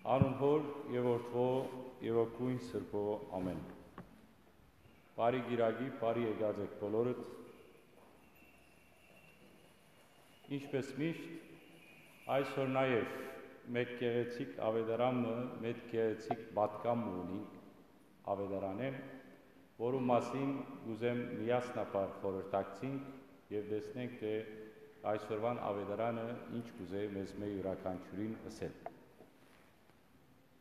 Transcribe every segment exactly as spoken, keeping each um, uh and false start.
Անուն Հօր եւ Որդւոյ եւ Հոգիին Սրբոյ, ամէն։ Բարի Կիրակի, բարի եկած եք բոլորդ։ Ինչպես միշտ, այսօր նաեւ մէկ գեղեցիկ աւետարան մը, մէկ գեղեցիկ պատգամ մը ունինք աւետարանէն, որու մասին կ'ուզեմ միասնաբար խորհրդակցինք եւ տեսնենք, թէ այսօրուան աւետարանը ինչ կ'ուզէ մեզմէ իւրաքանչիւրին ըսել։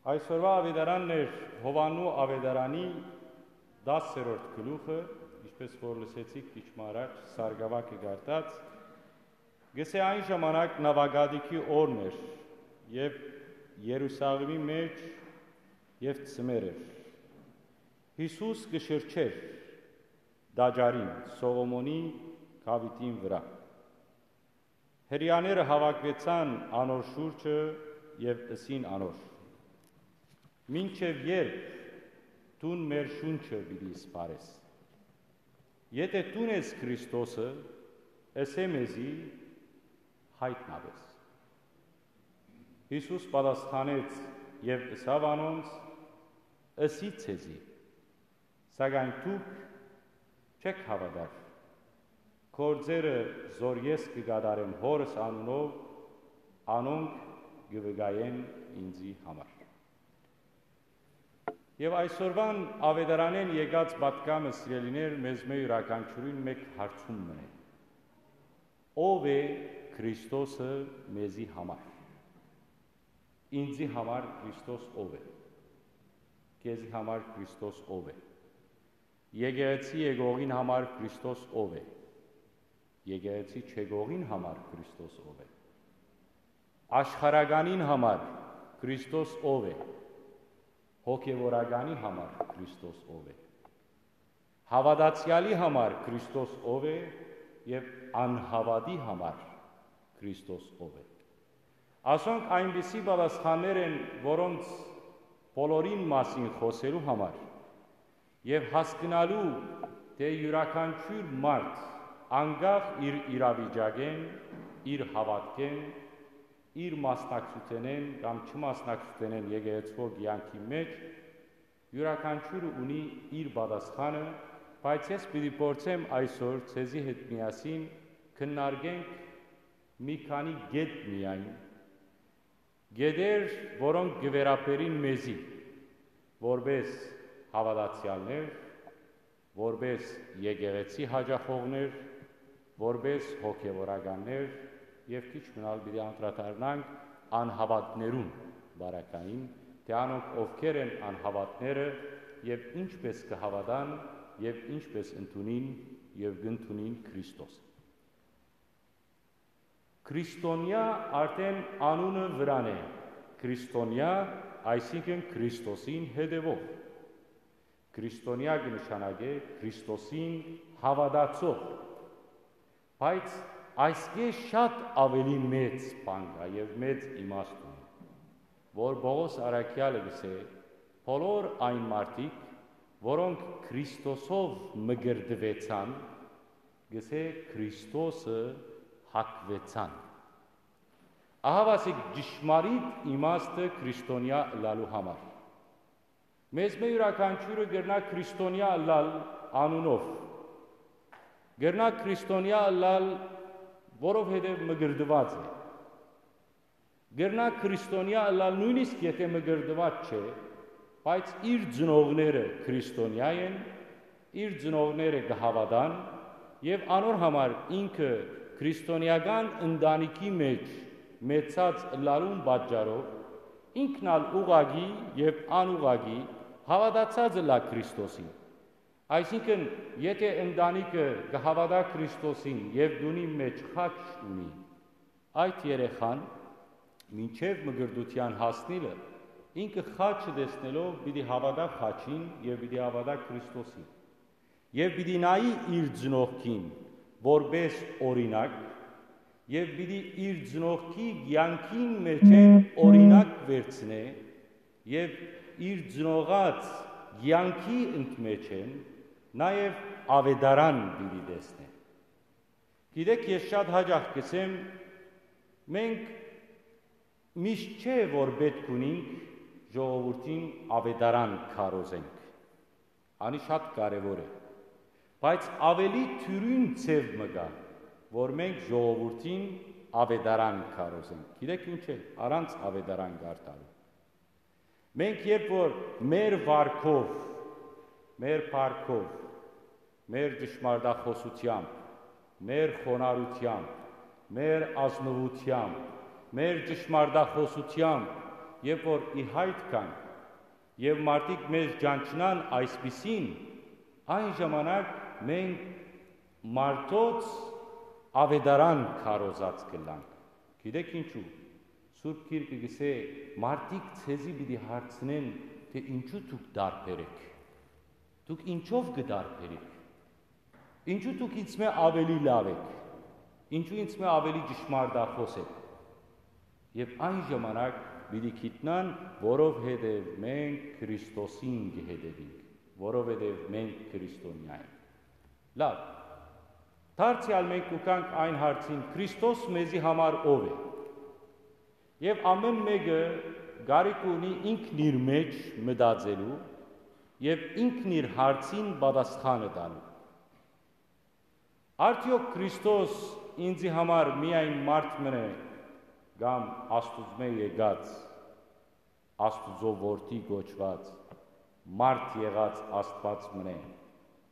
Այսօրուան աւետարանն էր Յովհաննու աւետարանի տասերորդ գլուխը, ինչպես որ լսեցիք քիչ մը առաջ Սարգսակը կարդաց, կ'ըսէ. այն ժամանակ նաւակատիքի օրն էր եւ Երուսաղէմի մէջ եւ ձմեռ էր։ Յիսուս կը շրջէր տաճարին Սողոմոնի գաւիթին վրայ։ Հրեաները հաւաքուեցան անոր շուրջը եւ ըսին անոր. «Մինչեւ ե՞րբ դուն մեր շունչը պիտի սպառես։ Եթէ դուն ես Քրիստոսը, ըսէ մեզի, յայտնապէս»։ Յիսուս պատասխանեց եւ ըսաւ անոնց. «Ըսի ձեզի, սակայն դուք չէք հաւատար։ Գործերը, որ ես կը կատարեմ Հօրս անունով, անոնք կը վկայեն ինծի համար»։ Եւ այսօրուան աւետարանէն եկած պատգամը, սիրելիներ, մեզմէ իւրաքանչիւրին մէկ հարցում մըն է. ո՞վ է Քրիստոսը մեզի համար։ Ինծի համար Քրիստոս ո՞վ է։ Քեզի համար Քրիստոս ո՞վ է։ Եկեղեցի եկողին համար Քրիստոս ո՞վ է։ Եկեղեցի չեկողին համար Քրիստոս ո՞վ է։ Աշխարհականին համար Քրիստոս ո՞վ է։ Հոգեւորականի համար Քրիստոս ո՞վ է։ Հաւատացեալի համար Քրիստոս ո՞վ է եւ անհաւատի համար Քրիստոս ո՞վ է։ Ասոնք այնպիսի պատասխաններ են, որոնց բոլորին մասին խօսելու համար եւ հասկնալու, թէ իւրաքանչիւր մարդ, անկախ իր իրավիճակէն, իր հաւատքէն, իր մասնակցութենէն կամ չմասնակցութենէն եկեղեցւոյ կեանքի մէջ, իւրաքանչիւրը ունի իր պատասխանը, բայց ես պիտի փորձեմ այսօր ձեզի հետ միասին քննարկենք մի քանի կետ միայն, կետեր, որոնք կը վերաբերին մեզի, որպէս հաւատացեալներ, որպէս եկեղեցի յաճախողներ, որպէս հոգեւորականներ եւ քիչ մնալ պիտի անդրադառնանք անհաւատներուն բարակային, թէ անոնք ովքեր են անհաւատները եւ ինչպես կը հաւատան եւ ինչպես ընդունին եւ կ'ընդունին Քրիստոսը։ Քրիստոնեայ արդէն անունը վրան է։ Քրիստոնեայ, այսինքն Քրիստոսին հետեւող։ Քրիստոնեայ կը նշանակէ Քրիստոսին հաւատացող։ Բայց այսկէ շատ աւելի մեծ բան կայ եւ մեծ իմաստ ունի, որ Պողոս առաքեալը կ'ըսէ. «Բոլոր այն մարդիկ, որոնք Քրիստոսով մկրտուեցան, կ'ըսէ, Քրիստոսը հագուեցան»։ Ահա ասիկ ճշմարիտ իմաստը քրիստոնեայ ըլլալու համար։ Մեզմէ իւրաքանչիւրը կրնայ քրիստոնեայ ըլլալ անունով։ Կրնայ քրիստոնեայ ըլլալ, որովհետեւ մկրտուած է։ Կրնայ քրիստոնեայ ըլլալ նոյնիսկ եթէ մկրտուած չէ, բայց իր ծնողները քրիստոնեայ են, իր ծնողները կը հաւատան եւ անոր համար ինքը քրիստոնեական ընտանիքի մէջ մեծած ըլլալուն պատճառով ինքն ալ ուղղակի եւ անուղղակի հաւատացած ըլլայ Քրիստոսին։ Այսինքն, եթէ ընտանիքը կը հաւատայ Քրիստոսին եւ տունին մէջ խաչ ունի, այդ երեխան մինչեւ մկրտութեան հասնիլը ինքը խաչը տեսնելով պիտի հաւատայ խաչին եւ պիտի հաւատայ Քրիստոսին։ Եւ պիտի նայի իր ծնողքին որպէս օրինակ, եւ պիտի իր ծնողքի կեանքին մէջէն օրինակ վերցնէ, եւ իր ծնողած կեանքի ընդմէջէն նաեւ աւետարան պիտի տեսնէ։ Գիտէք, ես շատ յաճախ կ'ըսեմ, մենք միշտ չէ որ պէտք ունինք ժողովուրդին աւետարան քարոզենք։ Անի շատ կարեւոր է։ Բայց աւելի դիւրին ձեւ մը կայ, որ մենք ժողովուրդին աւետարան քարոզենք։ Գիտեք ինչ է, առանց աւետարան կարդալու։ Մենք երբ որ մեր վարքով, մեր փառքով, մեր ճշմարտախօսութեամբ, մեր խոնարհութեամբ, մեր ազնուութեամբ, մեր ճշմարտախօսութեամբ, երբ որ ի հայտ գանք, եւ մարդիկ մեզ ճանչնան այսպիսին, այն ժամանակ մենք մարդոց աւետարան քարոզած կ'ըլլանք։ Գիտեք ինչու։ Սուրբ Գիրքը կ'ըսէ. «Մարդիկ ձեզի պիտի հարցնեն, թէ ինչու դուք տարբեր էք։ Դուք ինչով կը տարբերիք։ Ինչու դուք ինձմէ աւելի լաւ էք։ Ինչու ինձմէ աւելի ճշմարտախօս էք»։ Եւ այն ժամանակ պիտի գիտնան, որովհետեւ մենք Քրիստոսին կը հետեւինք, որովհետեւ մենք քրիստոնեայ ենք։ Լաւ, դարձեալ մենք կու գանք այն հարցին. Քրիստոս մեզի համար ո՞վ է։ Եւ ամէն մէկը կարիք ունի ինքն իր մէջ մտածելու եւ ինքն իր հարցին պատասխանը տալու։ Արդեօք Քրիստոս ինձի համար միայն մարդ մըն է, կամ Աստուծմէ եկած, Աստուծոյ որդի կոչուած, մարդ եղած Աստուած մըն է,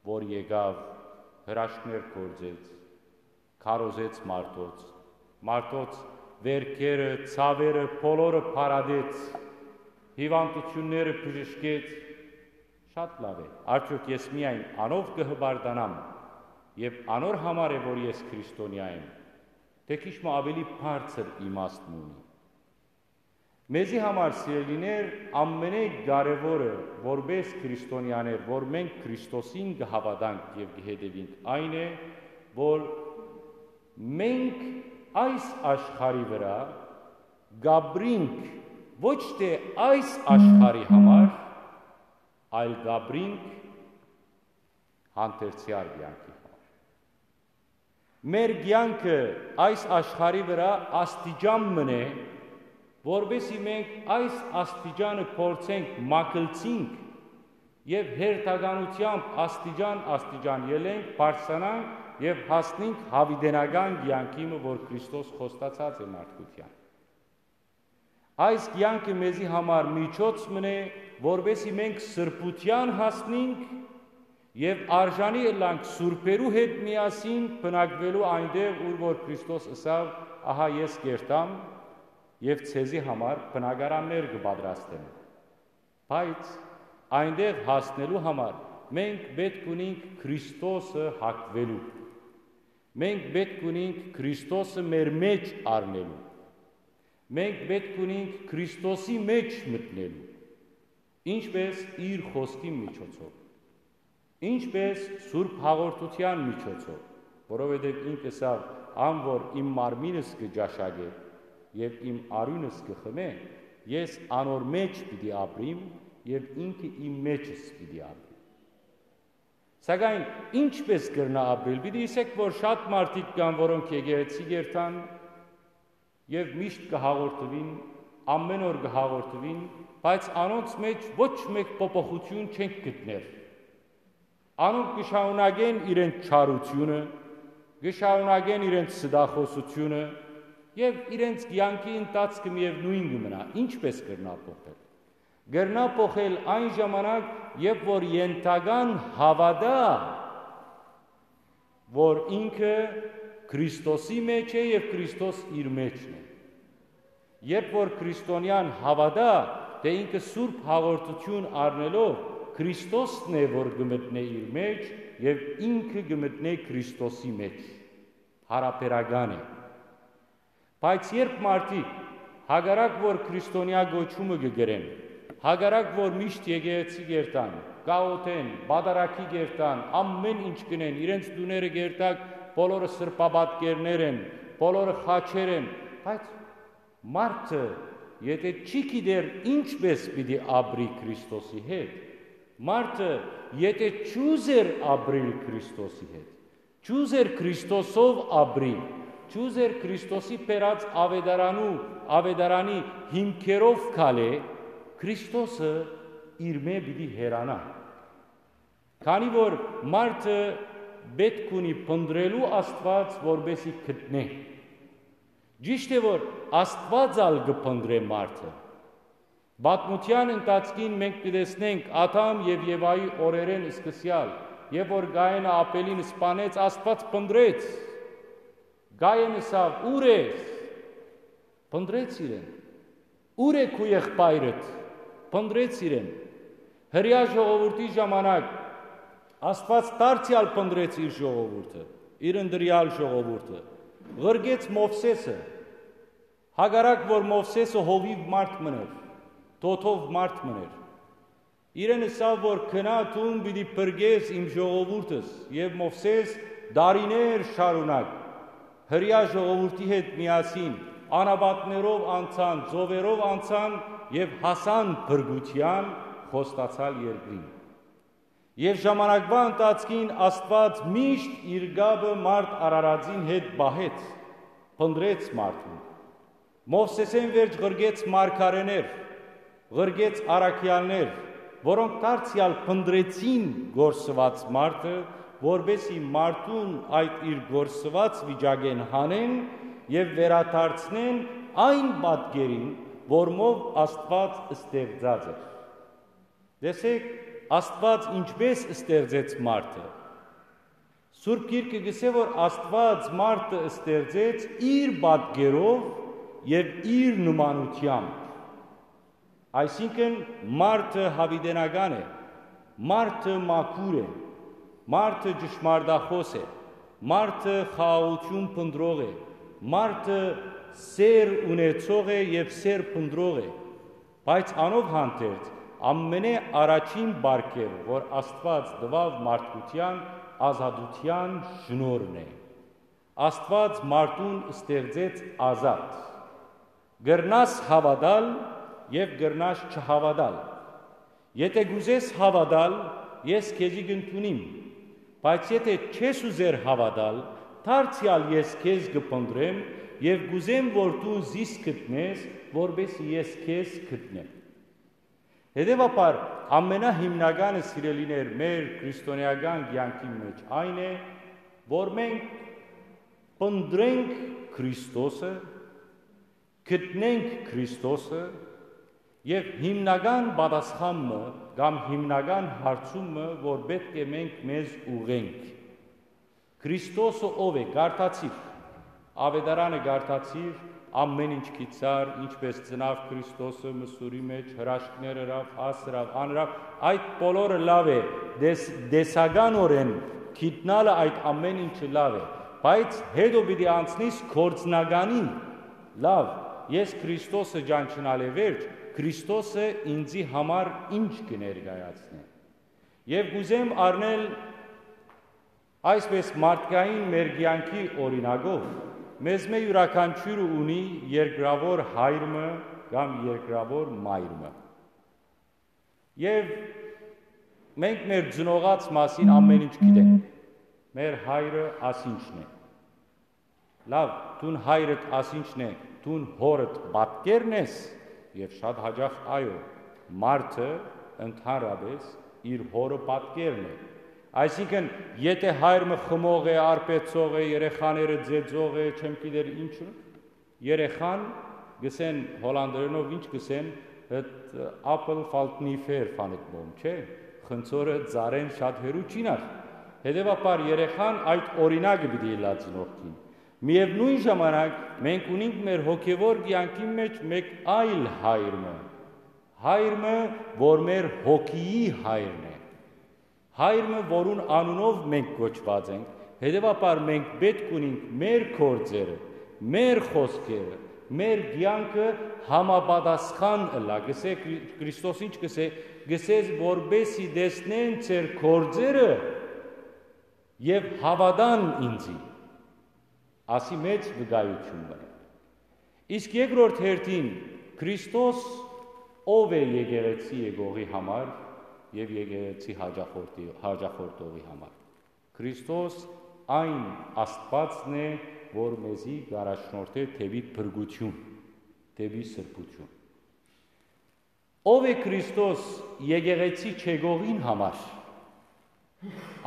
որ եկաւ, հրաշքներ գործեց, քարոզեց մարդոց, մարդոց վերքերը, ցաւերը, բոլորը փարատեց, հիւանդութիւնները բժշկեց։ Շատ լաւ է։ Արդեօք ես միայն անով կը հպարտանամ եւ անոր համար է, որ ես քրիստոնեայ եմ, թէ քիչ մը աւելի բարձր իմաստ մը ունի։ Մեզի համար, սիրելիներ, ամենէ կարեւորը, որպէս քրիստոնեաներ, որ մենք Քրիստոսին կը հաւատանք եւ կը հետեւինք, այն է, որ մենք այս աշխարհի վրայ կ'ապրինք ոչ թէ այս աշխարհի համար, այլ կ'ապրինք հանդերձեալ կեանքի համար։ Մեր կեանքը այս աշխարհի վրայ աստիճան մըն է, որպէսզի մենք այս աստիճանը փորձենք, մագլցինք եւ հերթականութեամբ աստիճան-աստիճան ելենք, բարձրանանք եւ հասնենք յաւիտենական կեանքի մը, որ Քրիստոս խոստացած է մարդկութեան։ Այս կեանքը մեզի համար միջոց մըն է, որպէսզի մենք սրբութեան հասնենք եւ արժանի ըլլանք սուրբերու հետ միասին բնակուելու այնտեղ, ուր որ Քրիստոս ըսաւ. «Ահա ես կ'երթամ եւ ձեզի համար բնակարաններ կը պատրաստեմ»։ Բայց այնտեղ հասնելու համար մենք պէտք ունենք Քրիստոսը հագուելու։ Մենք պէտք ունենք Քրիստոսը մեր մէջ առնելու։ Մենք պէտք ունենք Քրիստոսի մէջ մտնելու, ինչպես իր խօսքի միջոցով, ինչպես Սուրբ Հաղորդութեան միջոցով, որովհետեւ ինք ըսաւ. «Ան որ իմ մարմինս կը ճաշակէ եւ իմ արիւնս կը խմէ, ես անոր մէջ պիտի ապրիմ եւ ինքը իմ մէջս պիտի ապրի»։ Սակայն ինչպես կրնայ ապրիլ։ Պիտի ըսէք, որ շատ մարդիկ կան, որոնք եկեղեցի կ'երթան եւ միշտ կը հաղորդուին, ամէն օր կը հաղորդուին, բայց անոնց մէջ ոչ մէկ փոփոխութիւն չենք գտներ։ Անոնք կը շարունակեն իրենց չարութիւնը, կը շարունակեն իրենց ստախօսութիւնը եւ իրենց կեանքի ընթացքը միեւնոյն կը մնայ։ Ինչպես կրնայ փոխել։ Կրնայ փոխել այն ժամանակ, երբ որ ենթական հաւատայ, որ ինքը Քրիստոսի մէջ է եւ Քրիստոս իր մէջն է։ Երբ որ քրիստոնեան հաւատայ, թէ ինքը Սուրբ Հաղորդութիւն առնելով Քրիստոսն է, որ կը մտնէ իր մէջ եւ ինքը կը մտնէ Քրիստոսի մէջ, յարաբերական է։ Բայց երբ մարդիկ, հակառակ որ քրիստոնեայ կոչումը կը կրեն, հակառակ որ միշտ եկեղեցի կ'երթան, կ'աղօթեն, պատարագի կ'երթան, ամէն ինչ կ'ընեն, իրենց տուները կ'երթաք, բոլորը սրբապատկերներ են, բոլորը խաչեր են, բայց մարդը, եթէ չի գիտեր ինչպես պիտի ապրի Քրիստոսի հետ, մարդը, եթէ չուզեր ապրիլ Քրիստոսի հետ, չուզեր Քրիստոսով ապրի, չուզեր Քրիստոսի բերած աւետարանու, աւետարանի հիմքերով քալէ, Քրիստոսը իրմէ պիտի հեռանայ, քանի որ մարդը պէտք ունի փնտռելու Աստուած, որպէս զի գտնէ։ Ճիշդ է, որ Աստուած ալ կը փնտռէ մարդը։ Պատմութեան ընթացքին մենք կը տեսնենք Ադամ եւ Եվայի օրերէն սկսեալ, երբ որ Կայենը Աբելին սպանեց, Աստուած փնտռեց։ Կայեն ըսաւ. «Ո՞ւր ես»։ Փնտռեց իրեն. «Ո՞ւր է քու եղբայրդ»։ Փնտռեց իրեն։ Հրեայ ժողովուրդի ժամանակ Աստուած դարձեալ փնտռեց իր ժողովուրդը, իր ընտրեալ ժողովուրդը։ Ղրկեց Մովսէսը, հակառակ որ Մովսէսը հովիւ մարդ մըն էր, թոթով մարդ մըն էր։ Իրեն ըսաւ որ. «Գնա, դուն պիտի փրկես իմ ժողովուրդս»։ Եւ Մովսէս տարիներ շարունակ Հրեայ ժողովուրդի հետ միասին անապատներով անցան, ծովերով անցան եւ հասան փրկութեան խոստացեալ երկրին։ Եւ ժամանակվա ընթացքին Աստուած միշտ իր կապը մարդ արարածին հետ պահեց, փնտռեց մարդուն։ Մովսէսէն վերջ ղրկեց մարգարէներ, ղրկեց առաքեալներ, որոնք դարձեալ փնտռեցին կորսուած մարդը, որպէս զի մարդուն այդ իր կորսուած վիճակէն հանեն եւ վերադարձնեն այն պատկերին, որմով Աստուած ստեղծած էր։ Տեսէք, Աստուած ինչպէս ստեղծեց մարդը։ Սուրբ Գիրքը կ'ըսէ որ Աստուած մարդը ստեղծեց իր պատկերով եւ իր նմանութեամբ։ Այսինքն՝ մարդը յաւիտենական է, մարդը մաքուր է, մարդը ճշմարտախօս է, մարդը խաղաղութիւն փնտռող է, մարդը սէր ունեցող է եւ սէր փնտռող է։ Բայց անով հանդերձ, ամենէ առաջին պարգեւը, որ Աստուած տուաւ մարդկութեան, ազատութեան շնորհն է։ Աստուած մարդուն ստեղծեց ազատ։ Կրնաս հաւատալ եւ կրնաս չհաւատալ։ Եթէ կ'ուզես հաւատալ, ես քեզի կ'ընդունիմ, բայց եթէ չես ուզեր հաւատալ, դարձեալ ես քեզ կը փնտռեմ եւ կ'ուզեմ որ դուն զիս գտնես, որպէս զի ես քեզ գտնեմ։ Հետեւաբար, ամենահիմնականը, սիրելիներ, մեր քրիստոնէական կեանքի մէջ այն է, որ մենք փնտռենք Քրիստոսը, գտնենք Քրիստոսը եւ հիմնական պատասխան մը կամ հիմնական հարցում մը, որ պէտք է մենք մեզ ուղղենք. Քրիստոսը ո՞վ է, կարդացիր։ Աւետարանը կարդացիր, ամէն ինչ գիտցար, ինչպէս ծնաւ Քրիստոսը մսուրի մեջ, հրաշքներ ըրաւ, աս ըրաւ, ան ըրաւ, այդ բոլորը լաւ է, տես-, տեսականօրէն գիտնալը այդ ամէն ինչը լաւ է, բայց հետո պիտի անցնիս գործնականին, լաւ, ես Քրիստոսը ճանչնալէ վերջ, Քրիստոսը ինծի համար ինչ կը ներկայացնէ։ Եւ կ'ուզեմ առնել այսպես մարդկային մեր կեանքի օրինակով, մեզմէ իւրաքանչիւրը ունի երկրաւոր հայր մը կամ երկրաւոր մայր մը։ Եւ մենք մեր ծնողաց մասին ամէն ինչ գիտենք։ Մեր հայրը ասինչն է։ Լաւ, դուն հայրդ ասինչն է, դուն հորդ պատկերն ես, եւ շատ յաճախ, այո, մարդը ընդհանրապես իր հորը պատկերն է։ Այսինքն, եթէ հայր մը խմող է, արբեցող է, երեխաները ձեծող է, չեմ գիտեր ինչ, երեխան, գսեն հոլանդերենով ինչ գսեն, այդ apple valt niet ver van het boom, չէ՞, խնձորը ծառէն շատ հեռու չի նար։ Հետեւաբար երեխան այդ օրինակը պիտի ըլլայ ծնողքին։ Միեւնոյն ժամանակ մենք ունենք մեր հոգեվոր կեանքի մեջ մէկ այլ հայր մը, հայր մը, որ մեր հոգիի հայրն է, հայր մը, որուն անունով մենք կոչուած ենք, հետեւաբար մենք պէտք ունենք մեր գործերը, մեր խօսքերը, մեր կեանքը համապատասխան ըլլայ։ Գսե Քրի-, Քրիստոս ինչ գսե, գսե, որպէս զի տեսնեն ձեր գործերը եւ հաւատան ինծի, ասի մեծ վկայութիւն մը։ Իսկ երկրորդ հերթին, Քրիստոս ո՞վ է եկեղեցի եկողի համար եւ եկեղեցի հաճախորդի-, հաճախորդողի համար։ Քրիստոս այն Աստուածն է, որ մեզի կ'առաջնորդէ դէպի փրկութիւն, դէպի սրբութիւն։ Ո՞վ է Քրիստոս եկեղեցի չեկողին համար։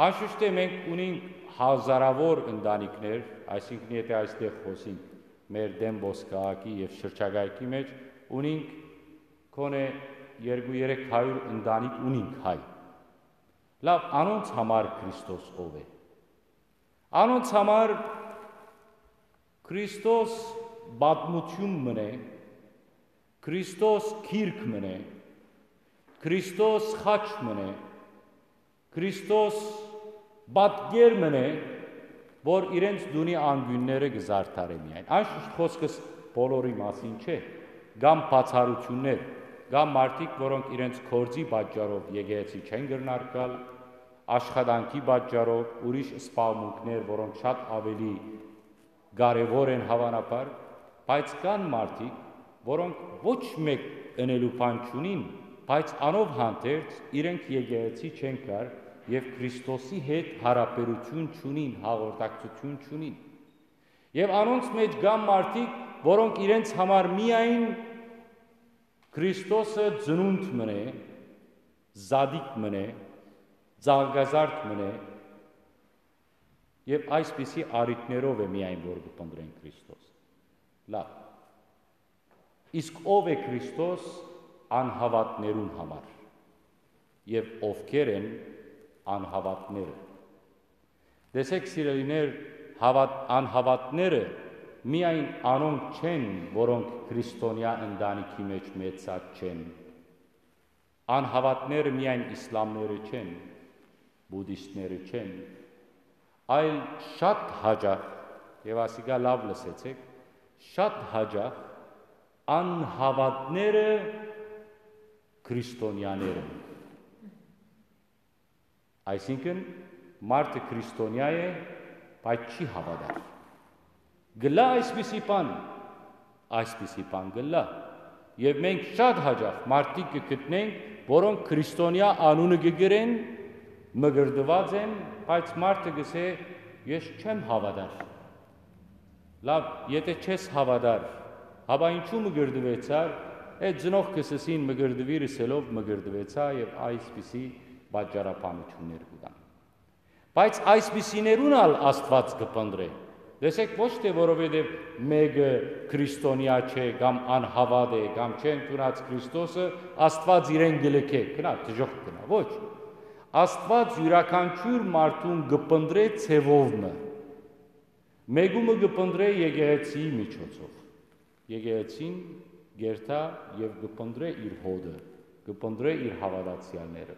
Անշուշտ է, մենք ունենք հազարավոր ընտանիքներ, այսինքն, եթե այստեղ խօսենք մեր Դենվոր քաղաքի եւ շրջակայքի մեջ, ունենք գոնե երկու երեք հարիւր ընտանիք ունենք հայ։ Լավ, անոնց համար Քրիստոս ո՞վ է։ Անոնց համար Քրիստոս պատմութիւն մըն է, Քրիստոս գիրք մըն է, Քրիստոս խաչ մըն է, Քրիստոս պատկեր մըն է, որ իրենց տունի անկիւնները կը զարդարէ միայն։ Անշուշտ, խօսքս բոլորի մասին չէ, կան բացառութիւններ, կան մարդիկ, որոնք իրենց գործի պատճառով եկեղեցի չեն կրնար գալ, աշխատանքի պատճառով, ուրիշ սպասմունքներ, որոնք շատ ավելի կարեւոր են, հաւանաբար, բայց կան մարդիկ, որոնք ոչ մէկ ընելու բան չունին, բայց անով հանդերձ իրենք եկեղեցի չեն գար եւ Քրիստոսի հետ յարաբերութիւն չունին, հաղորդակցութիւն չունին։ Եւ անոնց մէջ կան մարդիկ, որոնք իրենց համար միայն Քրիստոսը ծնունդ մըն է, զատիկ մըն է, ծաղկազարդ մըն է, եւ այսպիսի առիթներով է միայն, որ կը փնտռեն Քրիստոս։ Լավ։ Իսկ ո՞վ է Քրիստոս անհաւատներուն համար, եւ ովքեր են անհաւատները։ Տեսեք, սիրելիներ, հաւատ-, անհաւատները միայն անոնք չեն, որոնք քրիստոնեայ ընտանիքի մեջ մեծած չեն։ Անհաւատները միայն իսլամները չեն, բուդիստները չեն, այլ շատ յաճախ, եւ ասիկա լաւ լսեցեք, շատ յաճախ անհաւատները քրիստոնեաներ են։ Այսինքն, մարդը քրիստոնեայ է, բայց չի հաւատար։ Կ'ըլլայ այսպիսի բան, այսպիսի բան կ'ըլլայ։ Եւ մենք շատ յաճախ մարդիկ կը գտնենք, որոնք քրիստոնեայ անունը կը կրեն, մկրտուած են, բայց մարդը կ'ըսէ. «Ես չեմ հաւատար»։ Լաւ, եթէ չես հաւատար, հապա ինչու մկրտուեցար։ Այդ ծնողքս ըսին մկրտուիր ըսելով մկրտուեցայ, եւ այսպիսի պատճառաբանութիւններ կու տան։ Բայց այսպիսիներուն ալ Աստուած կը փնտռէ։ Տեսեք, ոչ թէ որովհետեւ մէկը քրիստոնեայ չէ կամ անհաւատ է կամ չէ ընդունած Քրիստոսը, Աստուած իրեն կը լքէ, գնա, դժոխք գնա, ոչ։ Աստուած իւրաքանչիւր մարդուն կը փնտռէ ձեւով մը։ Մէկու մը կը փնտռէ եկեղեցիի միջոցով։ Եկեղեցին կերթայ եւ կը փնտռէ իր հօտը, կը փնտռէ իր հաւատացեալները։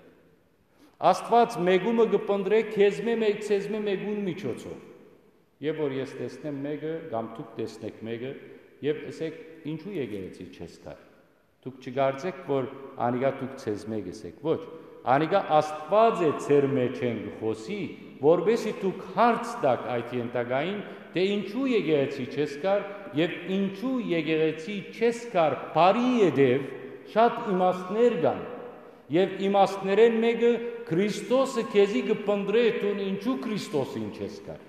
Աստուած մէկու մը կը փնտռէ քեզմէ մէկ, ձեզմէ մէկուն միջոցով։ Երբ որ ես տեսնեմ մէկը կամ դուք տեսնեք մէկը, եւ ըսեք. «Ինչու եկեղեցի չես գար»։ Դուք չկարծէք, որ անիկա դուք ձեզմէ կ'ըսէք։ Ոչ, անիկա Աստուած է ձեր մէջէն կը խօսի, որպէսզի դուք հարց տաք այդ յետագային, թէ ինչու եկեղեցի չես գար եւ ինչու եկեղեցի չես գար բարի ետեւ շատ իմաստներ կան։ Եւ իմաստներէն մէկը Քրիստոսը քեզի կը փնտռէ, դուն ինչու Քրիստոսին չես գար։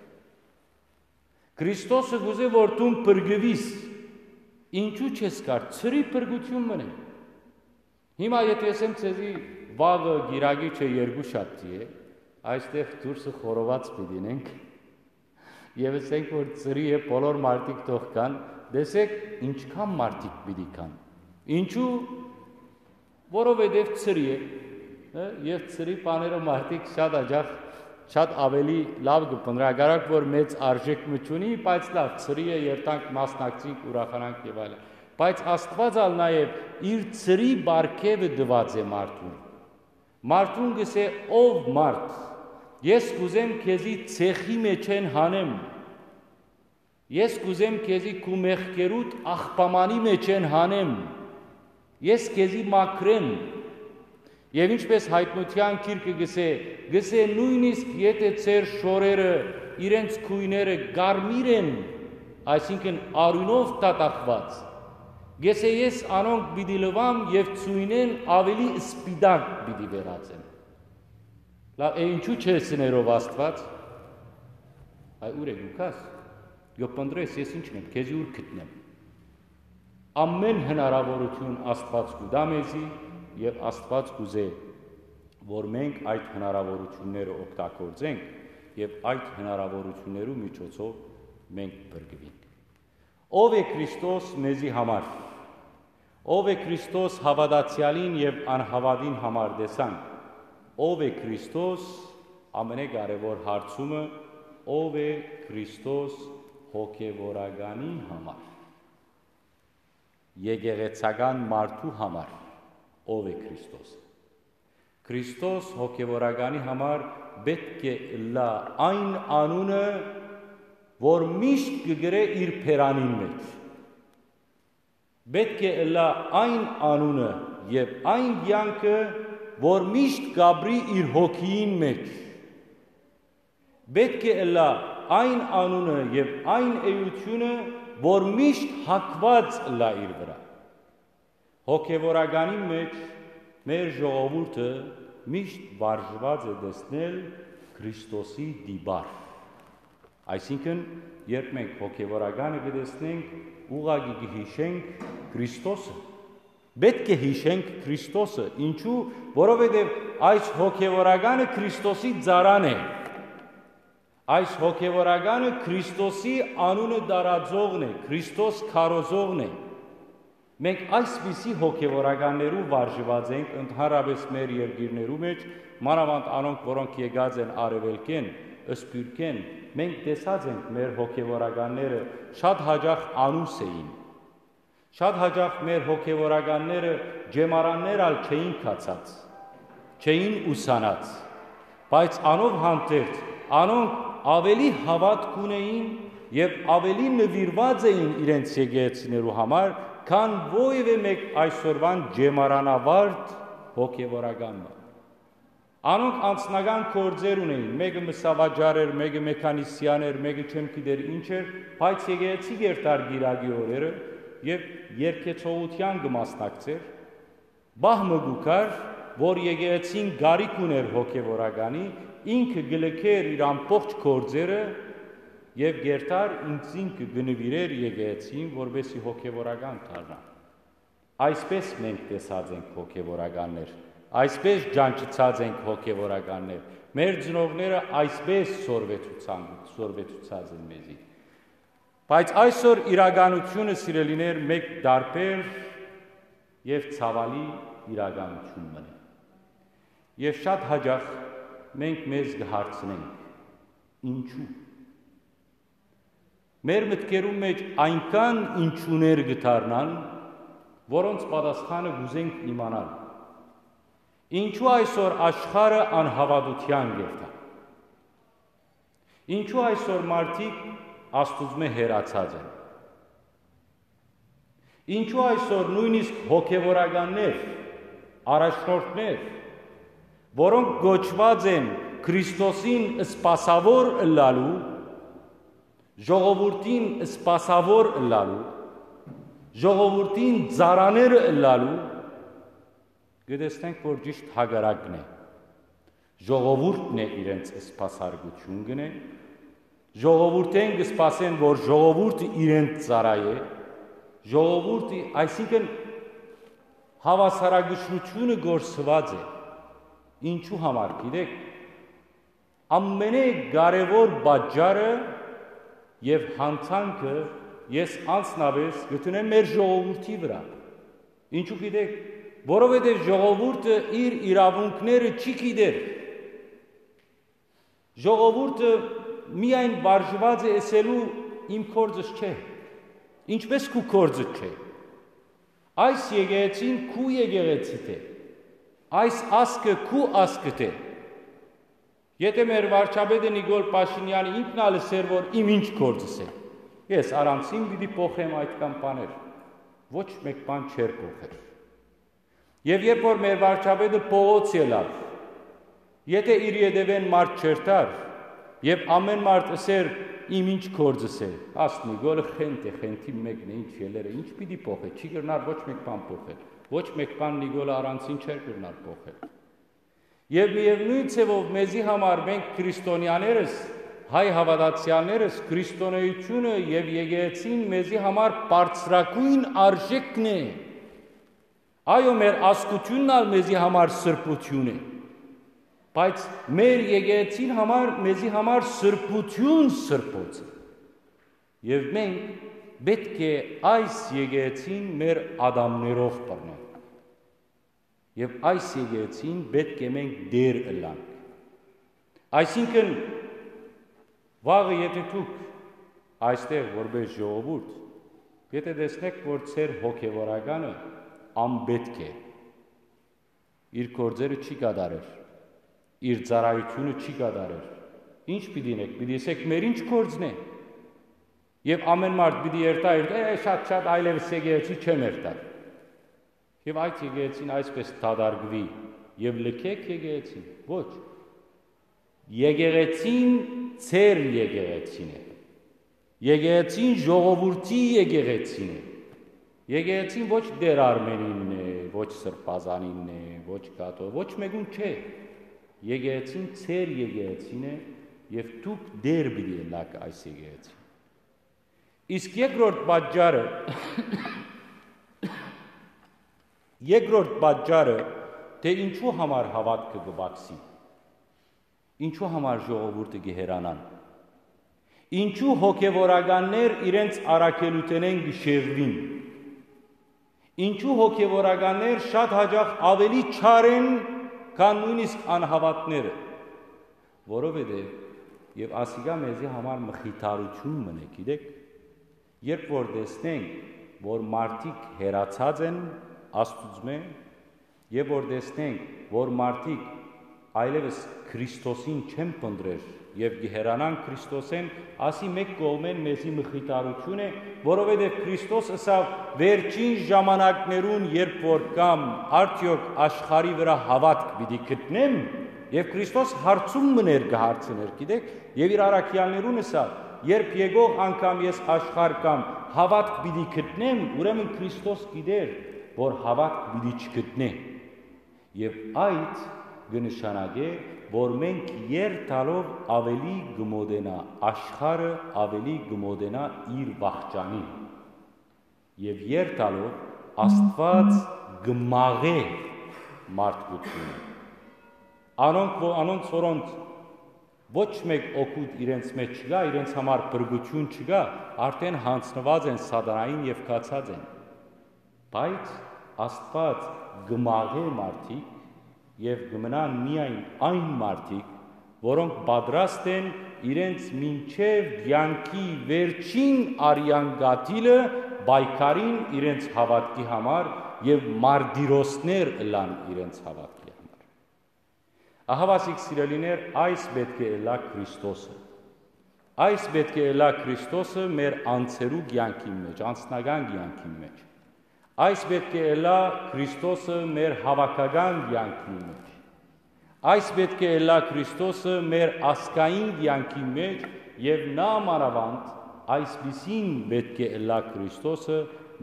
Քրիստոսը կ'ուզէ, որ դուն փրկուիս, ինչու չես գար, ցրի փրկութիւն մըն է։ Հիմա եթէ ըսեմ ձեզի, վաղը կիրակի չէ, երկուշաբթի է, այստեղ դուրսը խորոված պիտի ինենք, եւ ըսենք, որ ցրի է, բոլոր մարդիկ թող գան, տեսեք, ինչքան մարդիկ պիտի գան։ Ինչու, որովհետեւ ցրի է, հը, եւ ցրի բաները մարդիկ շատ աջախ, շատ ավելի լաւ կը փնտռեն, հակառակ որ մեծ արժէք մը չունի, բայց լաւ, ցրի է, երթանք, մասնակցենք, ուրախանանք եւ այլն։ Բայց Աստուած ալ նաեւ իր ցրի պարգեւը տուած է մարդուն։ Մարդուն կ'ըսէ. «Ով մարդ, ես կ'ուզեմ քեզի ցեխի մէջէն հանեմ, ես կ'ուզեմ քեզի քու մեղքերուդ աղբամանի մէջէն հանեմ, ես քեզի մաքրեմ»։ Եւ ինչպէս Յայտնութեան գիրքը կ'ըսէ, կ'ըսէ. «Նոյնիսկ եթէ ձեր շորերը, իրենց գոյները կարմիր են, այսինքն՝ արիւնով դատախուած, կ'ըսէ, ես անոնք պիտի լուամ եւ ծոյնէն աւելի սպիտակ պիտի վերածեմ»։ Լաւ, է, ինչու՞ չէ սներով Աստուած։ Այ ո՞ւր է դուք, աս։ Կը փնտռես, ես ի՞նչն եմ, քեզի ո՞ւր գտնեմ։ Ամէն հնարաւորութիւն Աստուած կու տայ մեզի, Եւ Աստուած կ'ուզէ, որ մենք այդ հնարաւորութիւնները օգտագործենք եւ այդ հնարաւորութիւններու միջոցով մենք փրկուինք։ Ո՞վ է Քրիստոս մեզի համար։ Ո՞վ է Քրիստոս հաւատացեալին եւ անհաւատին համար, տեսանք։ Ո՞վ է Քրիստոս, ամենակարեւոր հարցումը, ո՞վ է Քրիստոս հոգեվորականի համար, եկեղեցական մարդու համար, ո՞վ է Քրիստոս։ Քրիստոս հոգեվորականի համար պէտք է ըլլայ այն անունը, որ միշտ կը գրէ իր բերանին մէջ։ Պէտք է ըլլայ այն անունը եւ այն կեանքը, որ միշտ կ'ապրի իր հոգիին մէջ։ Պէտք է ըլլայ այն անունը եւ այն էութիւնը, որ միշտ հագուած ըլլայ իր վրայ։ Հոգեվորականի մէջ մեր ժողովուրդը միշտ վարժուած է տեսնել Քրիստոսի տիպարը։ Այսինքն, երբ մենք հոգեվորականը կը տեսնենք, ուղղակի կը յիշենք Քրիստոսը։ Պէտք է յիշենք Քրիստոսը։ Ինչու՞, որովհետեւ այս հոգեվորականը Քրիստոսի ծառան է։ Այս հոգեվորականը Քրիստոսի անունը տարածողն է, Քրիստոս քարոզողն է։ Մենք այսպիսի հոգեվորականներու վարժուած ենք ընդհանրապէս մեր երկիրներու մէջ, մանաւանդ անոնք, որոնք եկած են արեւելքէն, սփիւռքէն, մենք տեսած ենք մեր հոգեվորականները շատ յաճախ անուս էին։ Շատ յաճախ մեր հոգեվորականները ջեմարաններ ալ չէին գացած, չէին ուսանած, բայց անով հանդերձ անոնք աւելի հաւատք ունէին եւ աւելի նուիրուած էին իրենց եկեղեցիներու համար, քան որեւէ մէկ այսօրուան ջեմարանավարդ հոգեվորական մը։ Անոնք անձնական գործեր ունէին, մէկը մսավաճառ էր, մէկը մեքանիսիան էր, մէկը չեմ գիտեր ինչ էր, բայց եկեղեցի կ'երթար կիրակի օրերը եւ երգեցողութեան կը մասնակցէր։ Պահ մը կու գար, որ եկեղեցին կարիք ունէր հոգեվորականի, ինքը կը լքէր իր ամբողջ գործերը եւ կ'երթար ինքզինքը կը նուիրէր եկեղեցին, որպեսզի հոգեվորական դառնայ։ Այսպէս մենք տեսած ենք հոգեվորականներ, այսպէս ճանչցած ենք հոգեվորականներ։ Մեր ծնողները այսպէս սորվեցուցան, սորվեցուցած են մեզի։ Բայց այսօր իրականությունը, սիրելիներ, մէկ տարբեր եւ ցաւալի իրականութիւն մըն է։ Եւ շատ յաճախ մենք մեզ կը հարցնենք. ինչու՞։ Մեր մտքերուն մէջ այնքան ինչուներ կը դառնան, որոնց պատասխանը կ'ուզենք իմանալ։ Ինչու այսօր աշխարհը անհաւատութեան կ'երթայ։ Ինչու այսօր մարդիկ Աստուծմէ հեռացած են։ Ինչու այսօր նոյնիսկ հոգեվորականներ, առաջնորդներ, որոնք կոչուած են Քրիստոսին սպասաւոր ըլլալու, ժողովուրդին սպասաւոր ըլլալու, ժողովուրդին ծառաները ըլլալու, կը տեսնենք, որ ճիշտ հակառակն է։ Ժողովուրդն է իրենց սպասարկութիւն կ'ընէ, ժողովուրդէն կը սպասեն, որ ժողովուրդը իրենց ծառայէ, ժողովուրդը, այսինքն, հաւասարակշռութիւնը կորսուած է։ Ինչու համար, գիտեք, ամենէ կարեւոր պատճառը եւ յանցանքը ես անձնապէս կը դնեմ մեր ժողովուրդի վրայ։ Ինչու գիտեք, որովհետեւ ժողովուրդը իր իրաւունքները չի գիտեր։ Ժողովուրդը միայն վարժուած է ըսելու՝ իմ գործս չէ, ինչպէս քու գործը չէ։ Այս եկեղեցին քու եկեղեցիդ է, այս ազգը քու ազգդ է։ Եթէ մեր վարչապետը Նիկոլ Փաշինեանը ինքն ալ ըսէր, որ իմ ինչ գործս է, ես առանցին պիտի փոխեմ այդքան բաներ, ոչ մէկ բան չէր փոխեր։ Եւ երբ որ մեր վարչապետը փողոց ելաւ, եթէ իր ետեւէն մարդ չերթար, եւ ամէն մարդ ըսէր՝ իմ ինչ գործս է, աստ Նիկոլը խենթ է, խենթի մեկն է, ինչ ելեր է, ինչ պիտի փոխէ, չի կրնար ոչ մէկ բան փոխել, ոչ մէկ բան Նիկոլը առանցին չէր կրնար փոխել։ Եւ միեւնոյն ձեւով մեզի համար, մենք քրիստոնեաներս, հայ հաւատացեալներս, քրիստոնեությունը եւ եկեղեցին մեզի համար բարձրագոյն արժեքն է։ Այո, մեր ազգութիւնն ալ մեզի համար սրբութիւն է, բայց մեր եկեղեցին համար, մեզի համար սրբութիւն սրբոց է։ Եւ մենք պէտք է այս եկեղեցին մեր ատամներով բռնենք։ Եւ այս եկեղեցին պէտք է մենք դեր ըլլանք։ Այսինքն, վաղը եթէ դուք այստեղ որպէս ժողովուրդ, եթէ տեսնէք, որ ձեր հոգեվորականը անպէտք է, իր գործերը չի կատարեր, իր ծառայութիւնը չի կատարեր, ի՞նչ պիտի ընէք, պիտի ըսէք, մեր ի՞նչ գործն է։ Եւ ամէն մարդ պիտի երթայ, երթայ, «Է, շատ, շատ, այլեւս եկեղեցի չեմ երթար»։ Եւ այդ եկեղեցին այսպես դատարկուի, եւ լքեք եկեղեցին։ Ոչ։ Եկեղեցին ձեր եկեղեցին է։ Եկեղեցին ժողովուրդի եկեղեցին է։ Եկեղեցին ոչ Տեր Արմենինն է, ոչ Սրբազանինն է, ոչ Կաթո, ոչ մեկուն չէ։ Եկեղեցին ձեր եկեղեցին է, եւ դուք Տեր պիտի ըլլաք այս եկեղեցին։ Իսկ երկրորդ պատճառը, երկրորդ պատճառը, թէ ինչու համար հաւատքը կը պակսի, ինչու համար ժողովուրդը կը հեռանան, ինչու հոգեվորականներ իրենց առաքելութենէն կը շեղուին, ինչու հոգեվորականներ շատ յաճախ աւելի չար են, քան նոյնիսկ անհաւատները, որովհետեւ, եւ ասիկա մեզի համար մխիթարութիւն մըն է, գիտէք, երբ որ տեսնենք, որ մարդիկ հեռացած են Աստուծմէ, եւ որ տեսնենք, որ մարդիկ այլեւս Քրիստոսին չեն փնտռեր եւ կը հեռանան Քրիստոսէն, ասի մէկ կողմէն մեզի մխիթարութիւն է, որովհետեւ Քրիստոս ըսաւ, վերջին ժամանակներուն, երբ որ կամ, արդեօք աշխարհի վրայ հաւատք պիտի գտնեմ, եւ Քրիստոս հարցում մըն էր, կը հարցնէր, գիտէք, եւ իր առաքեալներուն ըսաւ, երբ եկող անգամ ես աշխարհ կամ հաւատք պիտի գտնեմ, ուրեմն Քրիստոս գիտեր, որ հաւատք պիտի չգտնէ։ Եւ այդ կը նշանակէ, որ մենք երթալով աւելի կը մօտենայ, աշխարհը աւելի կը մօտենայ իր վախճանին։ Եւ երթալով Աստուած կը մաղէ մարդկութիւնը։ Անոնք, ո-, անոնց, որոնց ոչ մէկ օգուտ իրենց մէջ չկայ, իրենց համար փրկութիւն չկայ, արդէն յանձնուած են սատանային եւ գացած են։ Բայց Աստուած կը մաղէ մարդիկ եւ կը մնան միայն այն մարդիկ, որոնք պատրաստ են իրենց մինչեւ կեանքի վերջին արեան կաթիլը պայքարին իրենց հաւատքի համար եւ մարտիրոսներ ըլլան իրենց հաւատքի համար։ Ահա, ասիկ, սիրելիներ, այս պէտք է ըլլայ Քրիստոսը։ Այս պէտք է ըլլայ Քրիստոսը մեր անձերու կեանքին մէջ, անձնական կեանքին մէջ։ Այս պէտք է ըլլայ Քրիստոսը մեր հաւաքական կեանքին մէջ։ Այս պէտք է ըլլայ Քրիստոսը մեր ազգային կեանքին մէջ եւ նամանավանդ այսպիսին պէտք է ըլլայ Քրիստոսը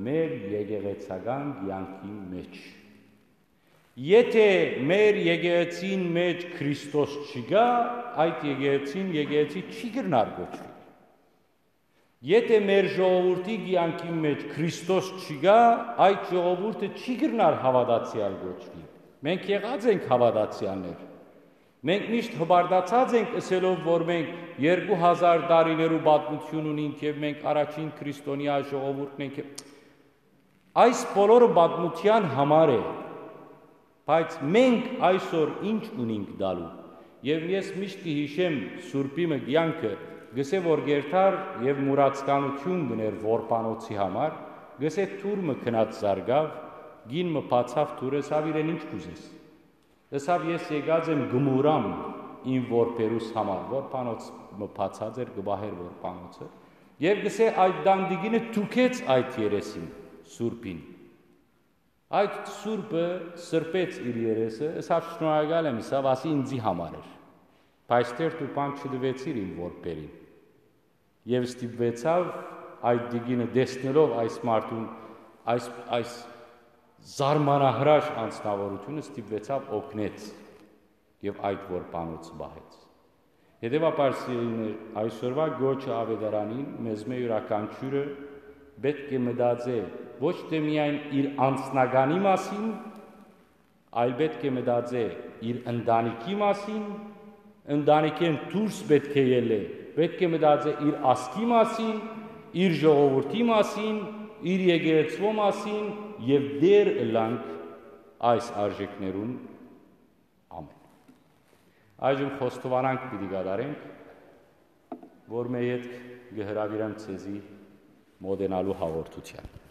մեր եկեղեցական կեանքին մէջ։ Եթէ մեր եկեղեցին մէջ Քրիստոս չկայ, այդ եկեղեցին եկեղեցի չի կրնար կոչուիլ։ Եթէ մեր ժողովուրդի կեանքին մէջ Քրիստոս չկայ, այդ ժողովուրդը չի կրնար հաւատացեալ կոչուիլ։ Մենք եղած ենք հաւատացեալներ։ Մենք միշտ հպարտացած ենք ըսելով, որ մենք երկու հազար տարիներու պատմութիւն ունինք եւ մենք առաջին քրիստոնեայ ժողովուրդն ենք։ Այս բոլորը պատմութեան համար է, բայց մենք այսօր ի՞նչ ունինք տալու։ Եւ ես միշտ կը յիշեմ Սուրբի մը կեանքը, գսէ որ գերթար եւ մուրացկանութիւն գներ որբանոցի համար, գսէ թուր մը գնաց զարգաւ, կին մը բացաւ թուրը, ըսաւ իրեն. «Ի՞նչ կ'ուզես»։ Ըսաւ. «Ես եկած եմ գմուրամ իմ որբերուս համար»։ Որբանոց մը բացած էր, կը պահէր որբանոցը, եւ գսէ այդ տանտիկինը թուքեց այդ երեսին, Սուրբին։ Այդ Սուրբը սրբեց իր երեսը, ըսաւ. «Շնորհակալ եմ», ըսաւ, ասի, «ինձի համար էր, բայց թերթ ու բան չտուեցիր իմ որբերին»։ Եւ ստիպուեցաւ այդ տիկինը, տեսնելով այս մարդուն, այս, այս զարմանահրաշ անձնաւորութիւնը, ստիպուեցաւ օգնեց եւ այդ որբանոցը պահեց։ Հետեւաբար, սիրելիներ, այսօրվա կոչը աւետարանին մեզմէ իւրաքանչիւրը Պէտք է մտածէ ոչ թէ միայն իր անձնականի մասին, այլ պէտք է մտածէ իր ընտանիքի մասին, ընտանիքէն դուրս պէտք է ելլէ, պէտք է մտածէ իր ազգի մասին, իր ժողովուրդի մասին, իր եկեղեցւոյ մասին եւ դեր ըլլանք այս արժեքներուն։ Ամէն։ Այժմ խոստովանանք պիտի կատարենք, որ մէ ետք կը հրաւիրեմ ձեզի մոտենալու հաղորդութեան։